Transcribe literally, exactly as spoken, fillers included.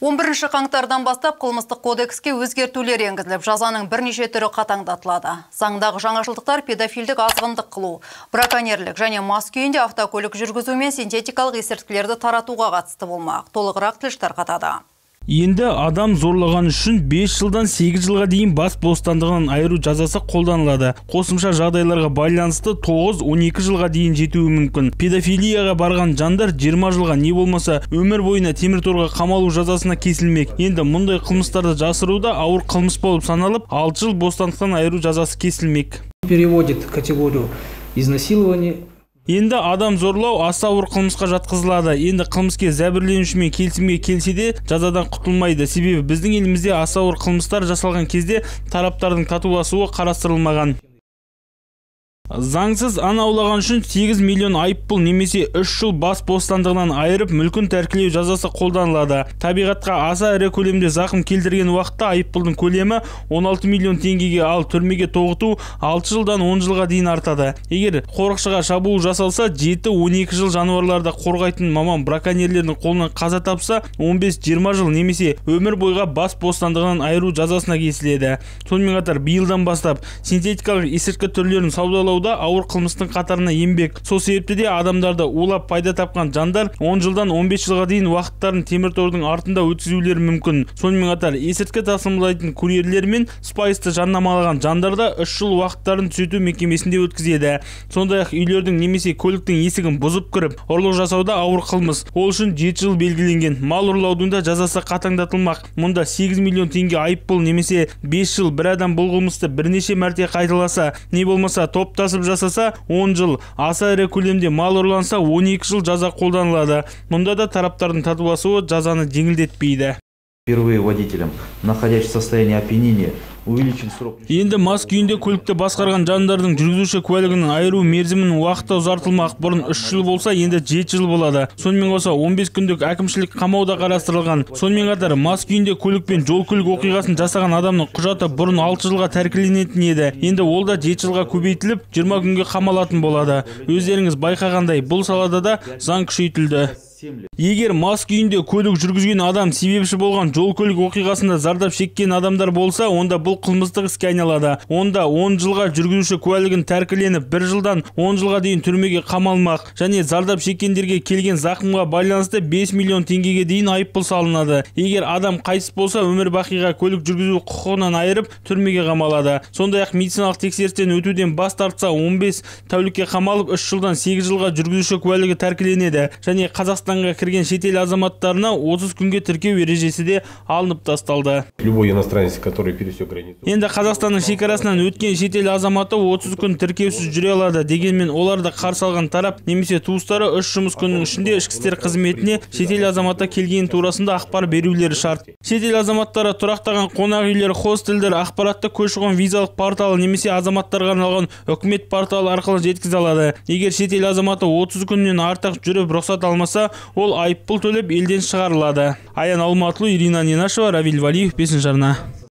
он бірінші қаңтардан бастап қылмыстық кодекске өзгертулер енгізіліп, жазаның бірнеше түрі қатаңдатылады. Заңдағы жаңашылдықтар педофилдік азғындық қылу, браконьерлік және мас күйінде автокөлік жүргізу мен синтетикалық есірткілерді таратуға қатысты болмақ. Толығырақ тілші тарқатады. Енді адам зорлаған үшін бес жылдан сегіз жылға дейін бас бостандығынан айыру жазасы қолданылады. Қосымша жағдайларға байланысты тоғыз он екі жылға дейін жетуі мүмкін. Педофилияға барған жандар жиырма жылға не болмаса өмір бойына темір торға қамалу жазасына кесілмек. Енді мұндай қылмыстарды жасыруда ауыр қылмыс болып саналып, алты жыл бостандықтан айыру жазасы кесілмек. Переводит категорию изнасилования. Енді адам зорлау аса ауыр қылмысқа жатқызылады. Енді қылмыскер зәбірленушімен келісімге келсе де жазадан құтылмайды. Себебі біздің елімізде аса ауыр қылмыстар жасалған кезде тараптардың татуласуы қарастырылмаған. Заңсыз аң аулаған үшін сегіз миллион айыппұл немесе үш жыл бас бостандығынан айырып мүлкін тәркілеу жазасы қолданылады. Табиғатқа аса ірі көлемде зақым келтірген уақытта айыппұлдың көлемі он алты миллион теңгеге, ал түрмеге тоғыту алты жылдан он жылға дейін артады. Егер қорықшыға шабуыл жасалса, жеті он екі жыл жануарларды қорғайтын маман браконьерлердің қолынан қаза тапса, он бес жиырма жыл немесе өмір бойға бас бостандығынан айыру жазасына кесіледі. Сонымен қатар биылдан бастап синтетикалық есірткі түрлерін саудалау ауыр қылмыстың қатарына енбек. Сол себепті де адамдарды улап пайда тапқан жандар он жылдан он бес жылға дейін уақыттарын темір тордың артында өткізулері мүмкін. Сонымен қатар есірткі тасымалдайтын курьерлер мен спайсты жарнамалаған жандарда үш жыл уақыттарын түзету мекемесінде өткізеді. Сондай-ақ үйлердің немесе көліктің есігін бұзып кіріп, ұрлық жасауда ауыр қылмыс. Ол үшін жеті жыл белгіленген. Мал ұрлаудың да жазасы қатаңдатылмақ. Мұнда сегіз миллион теңге айыппұл немесе бес жыл. Бір адам бұл қылмысты бірнеше мәрте қайталаса, не болмаса топта жасаса он жыл, аса ірі көлемде мал ұрланса он екі жыл жаза қолданылады. Мұнда да тараптардың татуласуы жазаны жеңілдетпейді. Впервые водителям, находящимся в состоянии опьянения, увеличен срок. Енді мас күйінде көлікті басқарған жандардың жүргізуші куәлігінің айыру мерзімінің уақыты ұзартылмақ. Бұрын үш жыл болса, енді жеті жыл болады. Сонымен қоса он бес күндік әкімшілік қамауда қарастырылған. Сонымен қатар мас күйінде көлікпен жол-көлік оқиғасын жасаған адамның құжаты бұрын алты жылға тәркіленетін еді. Енді ол да жеті жылға көбейтіліп, жиырма күнге қамалатын болады. Өздеріңіз байқағандай, бұл салада да заң күшейтілді. Егер мас күйінде көлік жүргізген адам себепші болған жол-көлік оқиғасында зардап шеккен адамдар болса, онда бұл қылмыстық іске айналады. Онда он жылға жүргізуші куәлігін тәркіленіп, бір жылдан он жылға дейін түрмеге қамалмақ. Және зардап шеккендерге келген зақымға байланысты бес миллион теңгеге дейін айыппұл салынады. Егер адам қайтыс болса, өмір бақиға көлік жүргізу құқығынан айырып, түрмеге қамалады. Сондай-ақ медициналық тексерістен өтуден бас тартса, он бес тәулікке қамалып, үш жылдан сегіз жылға жүргізуші куәлігі тәркіленеді. Және Қазақстан Қазақстанға кірген шетел азаматтарына отыз күнге тіркеу ережесі де алынып тасталды. Любой иностранец, который пересек границу. Енді Қазақстанның шекарасынан өткен шетел азаматы отыз күн тіркеусіз жүре алады. Дегенмен оларды қарсы алған тарап немесе туыстары үш жұмыс күнінің ішінде ішкі істер қызметіне шетел азаматы келген турасында ақпар берулері шарт. Шетел азаматтары тұрақтаған қонақ үйлер, хостелдер, ақпаратты көші-қон визалық порталы немесе азаматтарға арналған үкімет порталы арқылы жеткізе алады. Егер шетел азаматы отыз күннен артық жүріп рұқсат алмаса, ол айыппұл төлеп елден шығарылады. Аян Алматылы, Ирина Ненашева, Равиль Валиев, бесінші арна.